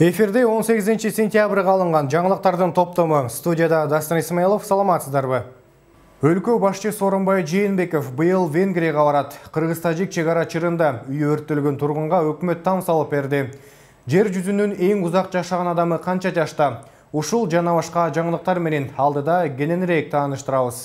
Эфирде 18 сентябрга алынган жаңылыктардын топтому. Студияда Дастан Исмаилов, саламатсыздарбы? Өлкө башчысы Сооронбай Жээнбеков быйыл Венгрияга барат. Кыргыз-тажик чегара чырында үй өрттөлгөн тургунга өкмөт там салып берди. Жер жүзүнүн эң узак жашаган адамы канча жашта? Ушул жана башка жаңылыктар менен алдыда кененирээк тааныштырабыз.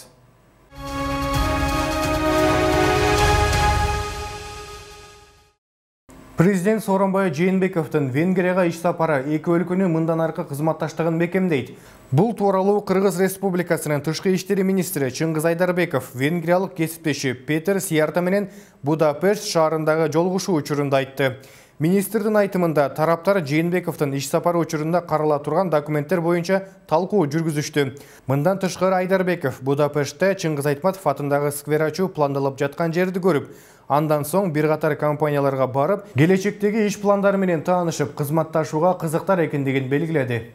Президент Сооронбай Жээнбековдун Венгрияга иш сапары эки өлкөнүн мындан аркы кызматташтыгын бекемдейт. Бул тууралуу Кыргыз Республикасынын тышкы иштери министри Чыңгыз Айдарбеков венгриялык кесиптеши Петер Сиярта менен Будапешт шаарындагы жолугушуу учурунда айтты. Министрдин айтымында тараптар Жээнбековдун иш сапары учурунда карала турган документтер боюнча талкуу жүргүзүштү. Мындан тышкары Айдарбеков Будапештте Чыңгыз Айтматов атындагы сквер ачуу пландалып жаткан жерди көрүп, андан соң бир катар компанияларга барып, келечектеги иш пландары менен таанышып, кызматташууга кызыктар экендигин белгиледи.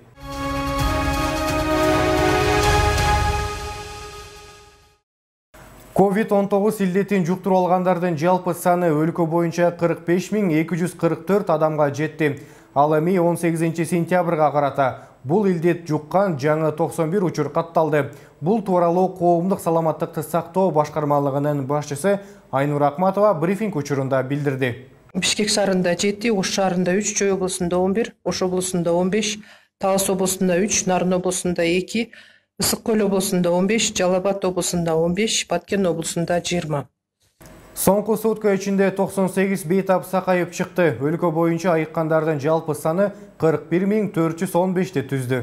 COVID-19 илдетин жуктуруп алгандардын жалпы саны өлкө боюнча 45.244 адамга жетти. Ал эми 18 сентябрга карата бул илдет жуккан жаңы 91 учур катталды. Бул тууралуу коомдук саламаттыкты сактоо башкармалыгынын башчысы Айнур Акматова брифинг учурунда билдирди. Бишкек шаарында 7, Ош шаарында 3, Чүй облусунда 11, Ош облусунда 15, Талас облусунда 3, Нарын облусунда 2, Ысык Көл облусунда 15, Жалал Абад облусунда 15, Баткен облусунда 20. Соңку сутка ичинде 98 бейтап сакайып чыкты. Өлкө боюнча айыккандардын жалпы саны 41.415 түздү.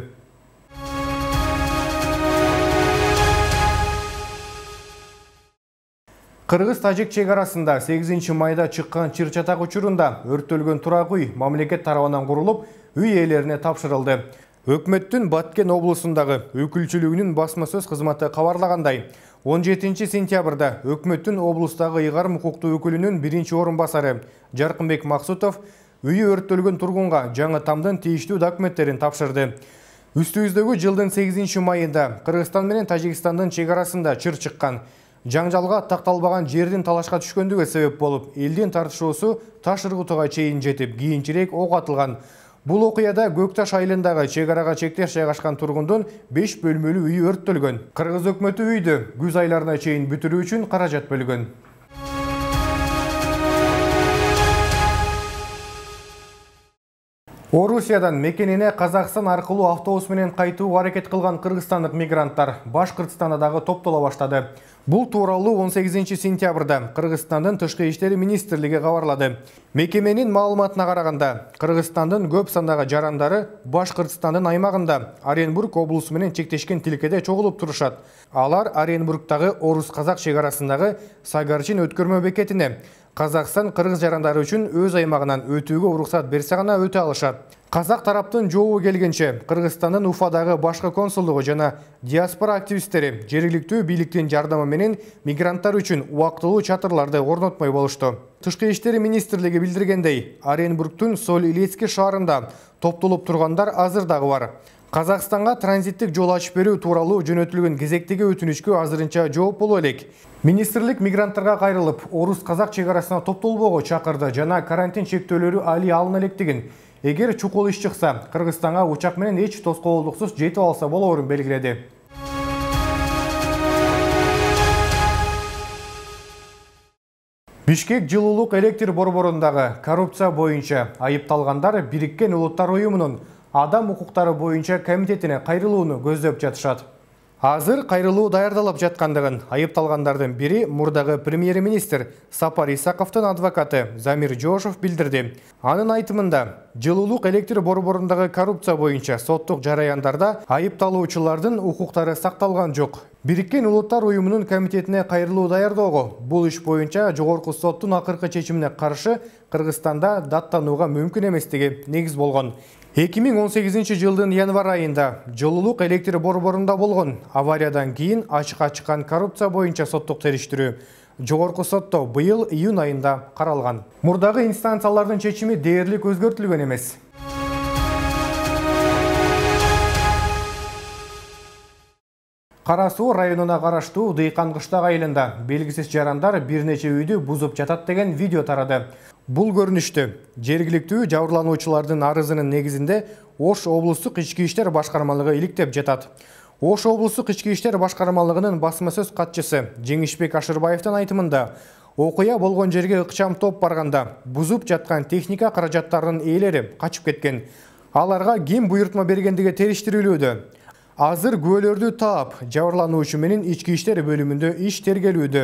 Кыргыз-тажик чегарасында 8 майда чыккан чыр-чатак учурунда өрттөлгөн турак үй мамлекет тарабынан курулуп, үй ээлерине тапшырылды. Өкмөттүн Баткен облусундагы өкүлчүлүгүнүн басма сөз кызматы кабарлагандай, 17 сентябрда өкмөттүн облустагы ыйгарым укуктуу өкүлүнүн биринчи орун басары Жаркынбек Максутов үйү өрттөлгөн тургунга жаңы тамдын тийиштүү документтерин тапшырды. Үстүбүздөгү жылдын 8 майында Кыргызстан менен Тажикстандын чегарасында чыр чыккан. Жаңжалга такталбаган жердин талашка түшкөндүгү себеп болуп, элдин тартышуусу таш ыргытууга чейин жетип, кийинчерээк ок атылган. Бул окуяда Көкташ айылындагы чегарага чектеш жайгашкан тургундун 5 бөлмөлүү үйү өрттөлгөн. Кыргыз өкмөтү үйдү күз айларына чейин бүтүрүү үчүн каражат бөлгөн. Орусиядан мекенине Казакстан аркылуу автобус менен кайтууга аракет кылган кыргызстандык мигранттар Башкыртстанда дагы топтоло баштады. Бул тууралуу 18 сентябрда Кыргызстандын тышкы иштери министрлиги кабарлады. Мекеменин маалыматына караганда, Кыргызстандын көп сандагы жарандары Башкыртстандын аймагында Оренбург облусу менен чектешкен тилкеде чогулуп турушат. Алар Оренбургдагы орус-казак чегарасындагы Сагарчин өткөрмө бекетине Казакстан кыргыз жарандары үчүн өз аймагынан өтүүгө уруксат берсе гана өтө алышат. Казак тараптын жообу келгенче Кыргызстандын Уфадагы башкы консулдугу жана диаспора активисттери жергиликтүү бийликтин жардамы менен мигранттар үчүн убактылуу чатырларды орнотмой болушту. Тышкы иштери министрлиги билдиргендей, Оренбургдун Соль-Илецк шаарында топтолуп тургандар азыр дагы бар. Казакстанга транзиттик жол ачып берүү тууралуу жөнөтүлгөн кезектеги өтүнүчкө азырынча жооп боло элек. Министрлик мигранттарга кайрылып, орус-казак чегарасына топтолбоого чакырды жана карантин чектөөлөрү али алына электигин, эгер чукул иш чыкса, Кыргызстанга учак менен эч тоскоолдуксуз жетип алса болоорун белгиледи. Бишкек жылуулук электр борборундагы коррупция боюнча айыпталгандар Бириккен Улуттар уюмунун адам укуктары боюнча комитетине кайрылууну көздөп жатышат. Азыр кайрылуу даярдалып жаткандыгын айыпталгандардын бири мурдагы премьер-министр Сапар Исаковдун адвокаты Замир Жошов билдирди. Анын айтымында, жылуулук электр борборундагы коррупция боюнча соттук жараяндарда айыпталуучулардын укуктары сакталган жок. Бириккен Улуттар уюмунун комитетине кайрылуу даярдоого бул иш боюнча жогорку соттун акыркы чечимине каршы Кыргызстанда даттанууга мүмкүн эместиги негиз болгон. 2018 жылдын январь айында жылуулук электр борборунда болгон авариядан кийин ачыкка чыккан коррупция боюнча соттук териштирүү жогорку сотто быйыл июнь айында каралган. Мурдагы инстанциялардын чечими дээрлик өзгөртүлгөн эмес. Кара Суу районуна караштуу Дыйкан кыштак айылында белгисиз жарандар бир нече үйдү бузуп жатат деген видео тарады. Бул көрүнүштү жергиликтүү жабырлануучулардын арызынын негизинде Ош облустук ички иштер башкармалыгы иликтеп жатат. Ош облустук ички иштер башкармалыгынын басма сөз катчысы Жеңишбек Ашырбаевдин айтымында, окуя болгон жерге ыкчам топ барганда бузуп жаткан техника каражаттарынын ээлери качып кеткен. Аларга ким буйрутма бергендиги териштирилүүдө. Азыр күбөлөрдү таап, жабырлануучу менен ички иштер бөлүмүндө иш тергелүүдө.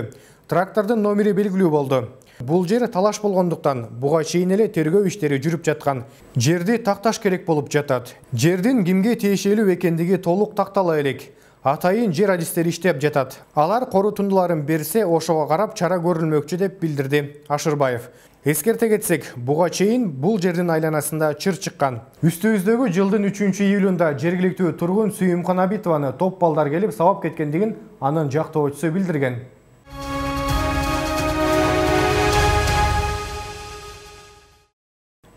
Трактордун номери белгилүү болду. Бул жер талаш болгондуктан буга чейин эле тергөө иштери жүрүп жаткан. Жерди такташ керек болуп жатат. Жердин кимге тиешелүү экендиги толук тактала элек. Атайын жер адистери иштеп жатат. Алар корутундуларын берсе, ошого карап чара көрүлмөкчү деп билдирди Ашырбаев. Эскерте кетсек, буга чейин бул жердин айланасында чыр чыккан. Үстүбүздөгү жылдын 3-июлунда жергиликтүү тургун Сүйүмкан Абитованы топ балдар келип сабап кеткендигин анын жактоочусу билдирген.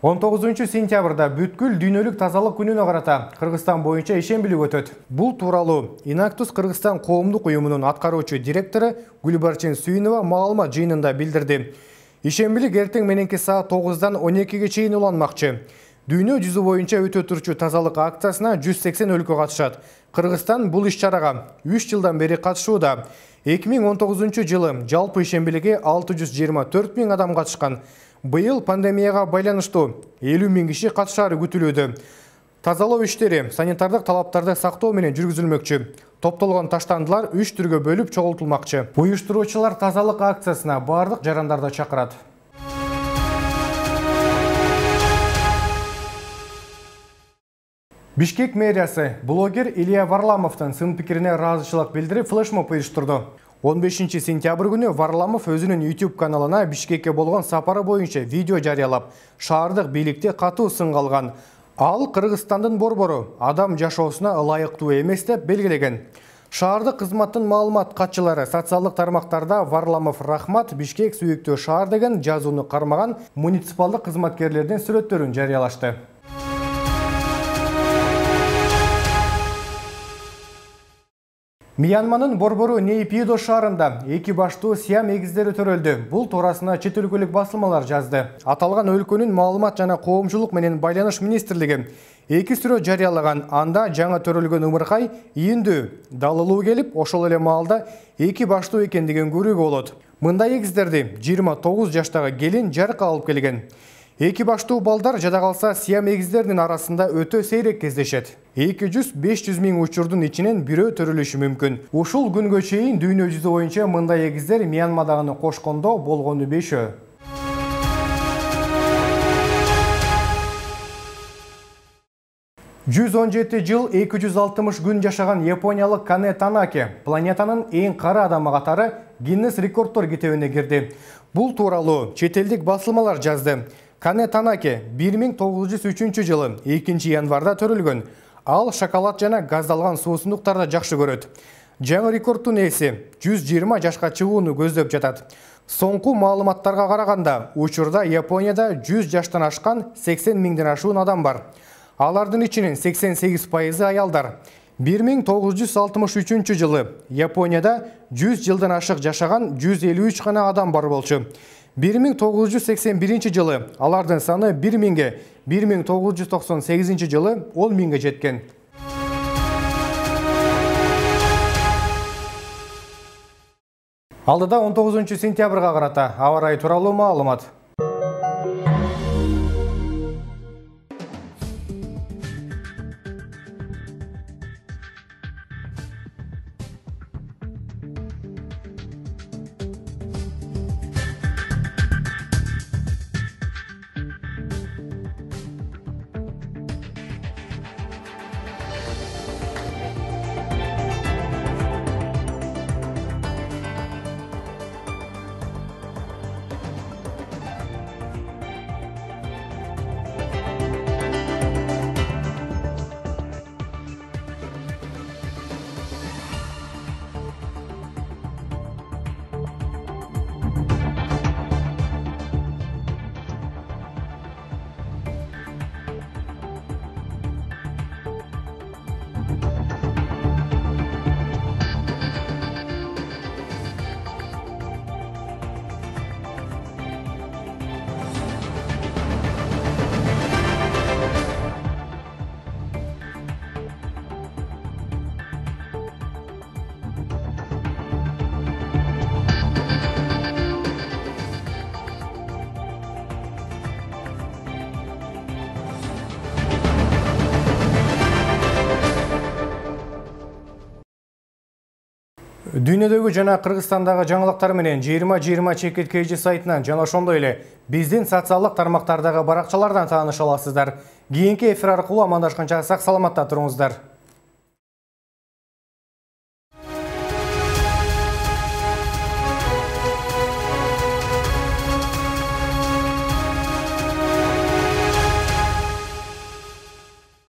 19 сентябрда бүткүл дүйнөлүк тазалык күнүнө карата Кыргызстан боюнча ишембилик өтөт. Бул тууралуу Инактус Кыргызстан коомдук уюмунун аткаруучу директору Гүлбарчын Сүйүнова маалымат жыйынында билдирди. Ишембилик эртең мененки саат 9-дан 12-ге чейин уланмакчы. Дүйнө жүзү боюнча өтө турчу тазалык акциясына 180 өлкө катышат. Кыргызстан бул иш-чарага 3 жылдан бери катышууда. 2019 жылы жалпы ишембиликке 624 000 адам катышкан. Быйыл пандемияга байланыштуу 50 000 киши катышаары күтүлүүдө. Тазалоо иштери санитардык талаптарды сактоо менен жүргүзүлмөкчү. Топтолгон таштандылар 3 түргө бөлүп чогултулмакчы. Уюштуруучулар тазалык акциясына бардык жарандарды чакырат. Бишкек мэриясы блогер Илья Варламовдун сын пикирине ыраазычылык билдирип флешмоб уюштурду. 15 сентябрь күнү Варламов өзүнүн YouTube каналына Бишкекке болгон сапары боюнча видео жарыялап, шаардык бийликти катуу сынга алган. Ал Кыргызстандын борбору адам жашоосуна ылайыктуу эмес деп белгилеген. Шаардык кызматтын маалымат катчылары социалдык тармактарда Варламов рахмат, Бишкек сүйүктүү шаар деген жазууну кармаган муниципалдык кызматкерлердин сүрөттөрүн жарыялашты. Мьянманын борбору Нейпидо шаарында 2 баштуу Сиам эгиздери төрөлдү. Бул туурасына чет өлкөлүк басылмалар жазды. Аталган өлкөнүн маалымат жана коомчулук менен байланыш министрлиги 2 сүрөт жарыялаган. Анда жаңы төрөлгөн ымыркай ийиндүү далылуу келип, ошол эле маалда 2 баштуу экендигин көрүүгө болот. Мындай эгиздерди 29 жаштагы келин жарык алып келген. 2 баштуу балдар жада калса Сиам эгиздеринин арасында өтө сейрек кездешет. 200-500 000 учурдун ичинен бирөө төрөлүшү мүмкүн. Ушул күнгө чейин дүйнө жүзү боюнча мындай эгиздер Мьянмадагыны кошкондо болгону 5. 117 жыл 260 күн жашаган япониялык Кане Танаке планетанын эң кара адамы катары Гиннес рекорддор китебине кирди. Бул тууралуу чет элдик басылмалар жазды. Кане Танаке 1903 жылы 2 январда төрөлгөн. Ал шоколад жана газдалган суусундуктарды жакшы көрөт. Жаңы рекорддун ээси 120 жашка чыгууну көздөп жатат. Соңку маалыматтарга караганда, учурда Японияда 100 жаштан ашкан 80 000ден ашуун адам бар. Алардын ичинен 88% аялдар. 1963 жылы Японияда 100 жылдан ашык жашаган 153 гана адам бар болчу. 1981 жылы алардын саны 1000ге, 1998 жылы 10.000ге жеткен. Алдыда 19 сентябрга карата аба ырайы тууралуу маалымат. Дүйнөдөгү жана Кыргызстандагы жаңылыктар менен 2020 чекит KG сайтынан жана ошондой эле биздин социалдык тармактардагы баракчалардан тааныша аласыздар. Кийинки эфир аркылуу амандашканча сак саламатта туруңуздар.